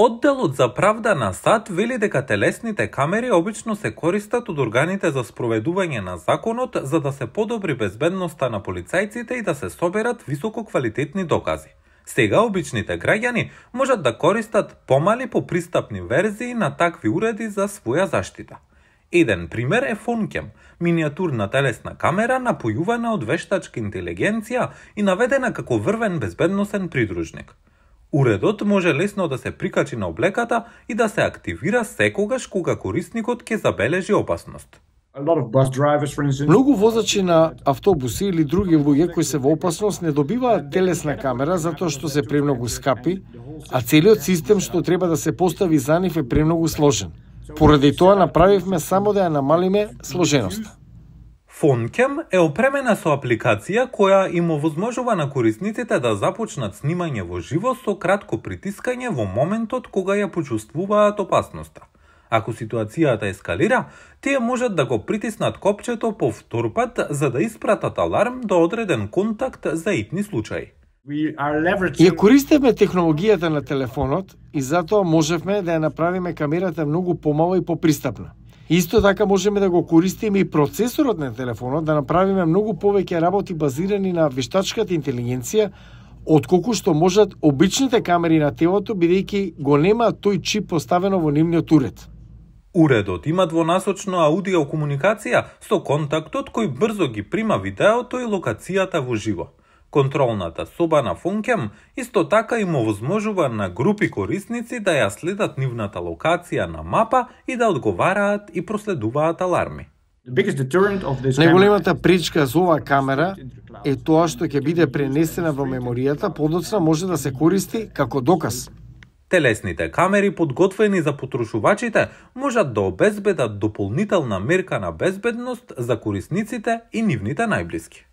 Одделот за правда на САД вели дека телесните камери обично се користат од органите за спроведување на законот за да се подобри безбедноста на полицајците и да се соберат висококвалитетни докази. Сега обичните граѓани можат да користат помали попристапни верзии на такви уреди за своја заштита. Еден пример е Фонкем, минијатурна телесна камера напојувана од вештачка интелигенција и наведена како врвен безбедносен придружник. Уредот може лесно да се прикачи на облеката и да се активира секогаш кога корисникот ќе забележи опасност. Многу возачи на автобуси или други луѓе кои се во опасност не добиваат телесна камера затоа што се премногу скапи, а целиот систем што треба да се постави за нив е премногу сложен. Поради тоа направивме само да ја намалиме сложеноста. Фонкем е опремена со апликација која им овозможува на корисниците да започнат снимање во живо со кратко притискање во моментот кога ја почувствуваат опасноста. Ако ситуацијата ескалира, тие можат да го притиснат копчето повтор пат за да испратат аларм до одреден контакт за итни случаи. Ја користевме технологијата на телефонот и затоа можевме да ја направиме камерата многу помала и попристапна. Исто така можеме да го користиме и процесорот на телефонот да направиме многу повеќе работи базирани на вештачката интелигенција, отколку што можат обичните камери на телото бидејќи го немаат тој чип поставено во нивниот уред. Уредот има двонасочна аудиокомуникација со контактот кој брзо ги прима видеото и локацијата во живо. Контролната соба на Фонкем исто така им овозможува на групи корисници да ја следат нивната локација на мапа и да одговараат и проследуваат аларми. Најголемата пречка за оваа камера е тоа што ќе биде пренесена во меморијата, подоцна може да се користи како доказ. Телесните камери подготвени за потрошувачите можат да обезбедат дополнителна мерка на безбедност за корисниците и нивните најблиски.